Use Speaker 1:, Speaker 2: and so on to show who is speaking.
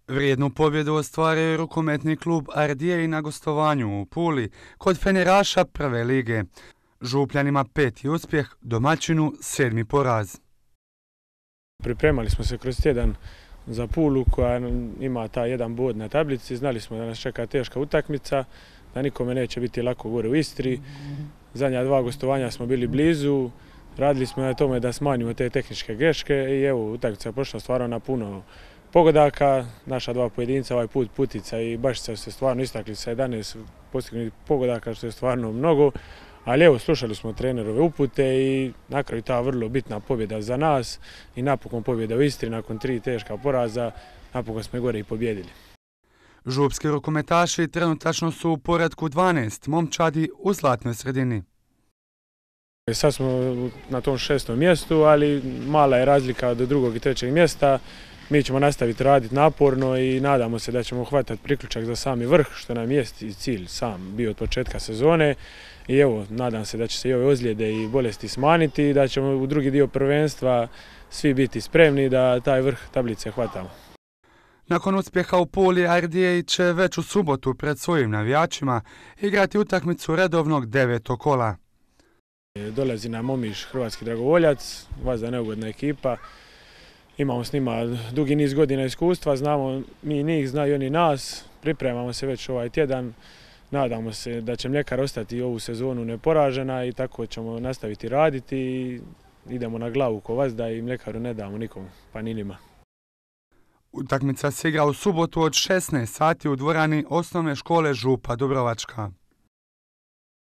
Speaker 1: Vrijednu pobjedu ostvario je rukometni klub Ardije na gostovanju u Puli kod feneraša prve lige. Župljanima 5. uspjeh, domaćinu 7. poraz.
Speaker 2: Pripremali smo se kroz tjedan za Pulu koja ima taj jedan bod na tablici. Znali smo da nas čeka teška utakmica, da nikome neće biti lako gore u Istri. Zadnja 2 gostovanja smo bili blizu, radili smo na tome da smanjimo te tehničke greške i evo, utakmica je prošla stvarno na puno pogodaka. Naša 2 pojedinca, ovaj put Putica i Bašica su se stvarno istakli sa 11 postignuti pogodaka, što je stvarno mnogo. Ali evo, slušali smo trenerove upute i na kraju ta vrlo bitna pobjeda za nas i napokon pobjeda u Istri nakon 3 teška poraza, napokon smo gore i pobjedili.
Speaker 1: Župski rukometaši trenutačno su u poretku 12 momčadi u zlatnoj sredini.
Speaker 2: Sad smo na tom 6. mjestu, ali mala je razlika do 2. i 3. mjesta. Mi ćemo nastaviti raditi naporno i nadamo se da ćemo hvatati priključak za sami vrh, što nam je i cilj sam bio od početka sezone. I evo, nadam se da će se i ove ozljede i bolesti smanjiti i da ćemo u drugi dio prvenstva svi biti spremni da taj vrh tablice hvatamo.
Speaker 1: Nakon uspjeha u Puli, Ardije će već u subotu pred svojim navijačima igrati utakmicu redovnog 9. kola.
Speaker 2: Dolazi nam Omiš, hrvatski dragovoljac, vazda neugodna ekipa. Imamo s njima dugi niz godina iskustva, znamo mi njih, znaju oni nas, pripremamo se već ovaj tjedan. Nadamo se da će Mljekar ostati ovu sezonu neporažena i tako ćemo nastaviti raditi i idemo na glavu ko vazda i Mljekaru ne damo nikom, pa ni njima.
Speaker 1: Utakmica se igra u subotu od 16 sati u dvorani osnovne škole Župa Dubrovačka.